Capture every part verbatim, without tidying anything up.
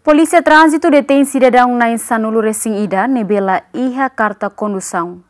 Polísia Tránzitu detein sidadaun na'in sanulu-resin-ida ne'ebé la iha karta kondusaun.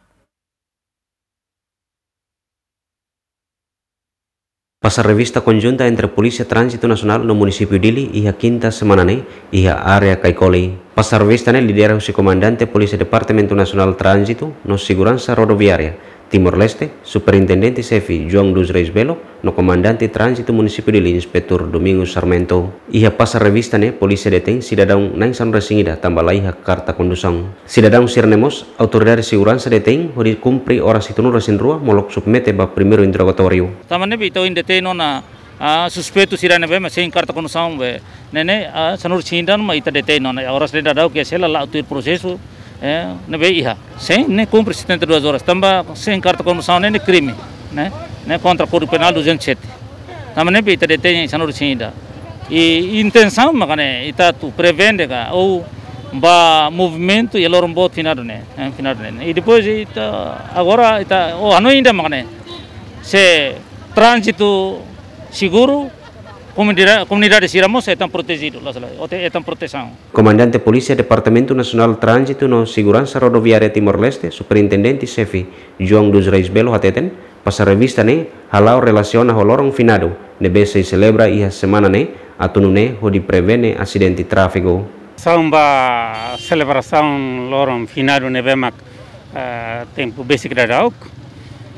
Pasar revista konjunta entre Polísia Tránzitu Nasionál no Munisípiu Dili iha kinta semana ne'e iha área Caicoli. Pasar revista ne'e lidera husi Komandante Polísia Departamentu Nasionál Tránzitu no Seguransa Rodoviária Timor-Leste, Superintendente Xefe João dos Reis Belo, no Komandante Tránzitu Munisípiu Dili Inspetór Domingos Sarmento. Iha pasar revista ne'e polísia detein sidadaun na'in sanulu-resin-ida tanba la iha karta kondusaun. Sidadaun sira-ne'e mós autoridade seguransa detein hodi kumpre oras hitunulu-resin-rua molok submete ba primeiru interrogatóriu. Tanba ne'ebé ita ohin detein ona, ah, suspeitu sira ne'ebé mak sein karta kondusaun be, ne'e ne'e, ah, sanulu-resin-ida mak ita detein ona. Oras ne'e daudaun ke sela la tuir prosesu, eh, ne'ebé iha. Sein ne'e kumpre setenta e duas horas. Tanba sein karta kondusaun ne'e ne'e krime, ne'e, ne'e kontra Kódigu Penál duzentos e sete. Tanba ne'ebé ita detein sanulu-resin-ida. I intensaun mak ne'e ita atu prevene ka ou ba movimentu iha loron boot finadu ne'e, eh, finadu ne'e. I depois ita agora ita, oh, hanoin ida mak ne'e. Se tránzitu seguru, komunida-, komunidade sira mós hetan protejidu, la sala, ou hetan protesaun. Komandante Polísia Departamentu Nasionál Tránzitu no Seguransa Rodoviária Timor-Leste, Superintendente Xefe João dos Reis Belo hateten, pasar revista ne'e hala'o relasiona ho loron finadu ne'ebé sei selebra iha semana ne'e, atu nune'e hodi prevene asidente tráfiku. Samba selebrasaun loron finadu ne'ebé mak, eh, tempu besik daudauk.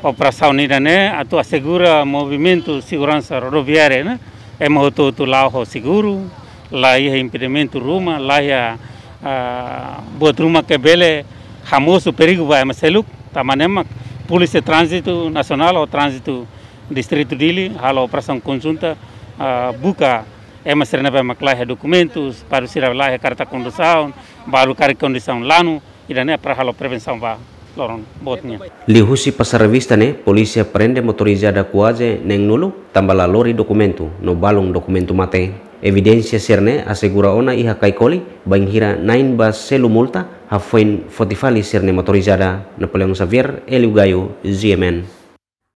Operasaun ida-ne'e atu asegura movimentu seguransa rodoviária ne'e, ema hotu-hotu la'o ho seguru, la iha impedimentu ruma, la iha, ah, buat ruma ke bele hamosu perigu ba ema seluk, tanba ne'e mak Polísia Tránzitu Nasionál ou Tránzitu Distritu Dili halo operasaun konjunta, ah, buka ema sira ne'ebé mak la iha dokumentus, balu sira la iha karta kondusaun, balu karik kondisaun lanu, ida-ne'e para halo prevensaun ba loron boot nian. Liuhusi pasar revista ne'e, polísia prende motorizada kuaze neenulu, tanba la lori dokumentu, no balun dokumentu mate. Evidénsia sira-ne'e asegura ona iha Caicoli, bainhira na'in ba selu multa, hafoin foti fali sira-nia motorizada. Napoleão Xavier, Hélio Gaio, G M N.